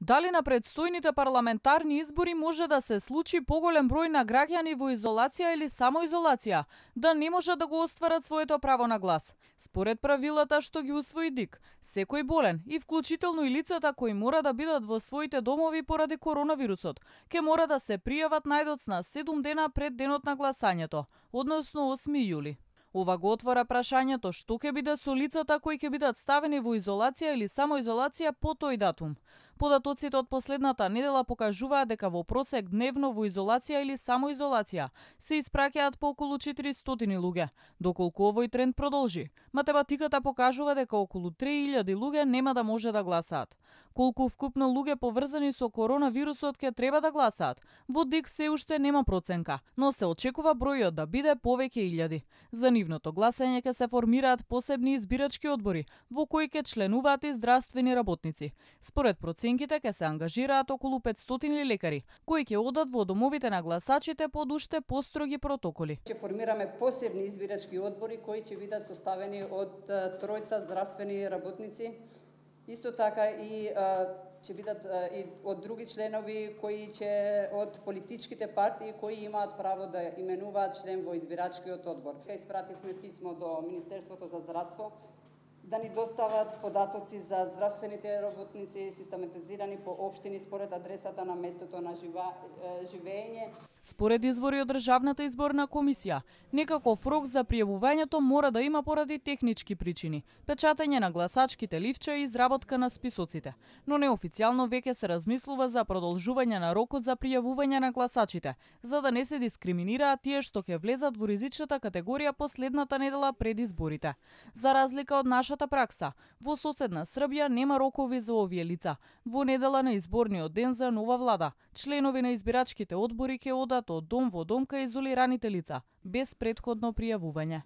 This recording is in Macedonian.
Дали на предстојните парламентарни избори може да се случи поголем број на граѓани во изолација или самоизолација, да не можат да го остварат своето право на глас? Според правилата што ги усвои ДИК, секој болен и вклучително и лицата кои мора да бидат во своите домови поради коронавирусот, ќе мора да се пријават најдоцна 7 дена пред денот на гласањето, односно 8 јули. Ова го отвора прашањето што ќе биде со лицата кои ќе бидат ставени во изолација или самоизолација по тој датум. Податоците од последната недела покажуваат дека во просек дневно во изолација или самоизолација се испраќаат по околу 400 луѓе. Доколку овој тренд продолжи, математиката покажува дека околу 3000 луѓе нема да може да гласаат. Колку вкупно луѓе поврзани со коронавирусот ќе треба да гласаат, во ДИК се уште нема проценка, но се очекува бројот да биде повеќе илјади. За нивното гласање ќе се формираат посебни избирачки одбори, во кои ќе членуваат и здравствени работници. Според проценките ќе се ангажираат околу 500 лекари, кои ќе одат во домовите на гласачите под уште построги протоколи. Ќе формираме посебни избирачки одбори кои ќе бидат составени од тројца здравствени работници. Исто така и ќе бидат и од други членови кои ќе од политичките партии кои имаат право да именуваат член во избирачкиот одбор. Испративме писмо до Министерството за здравство да ни достават податоци за здравствените работници систематизирани по општини според адресата на местото на живење. Според извори од Државната изборна комисија, некаков рок за пријавувањето мора да има поради технички причини, печатење на гласачките ливча и изработка на списоците. Но неофицијално веќе се размислува за продолжување на рокот за пријавување на гласачите, за да не се дискриминираат тие што ќе влезат во ризичната категорија последната недела пред изборите. За разлика од нашата пракса, во соседна Србија нема рокови за овие лица. Во недела на изборниот ден за нова влада, членови на избирачките одбори ќе одат од дом во дом кај изолираните лица, без претходно пријавување.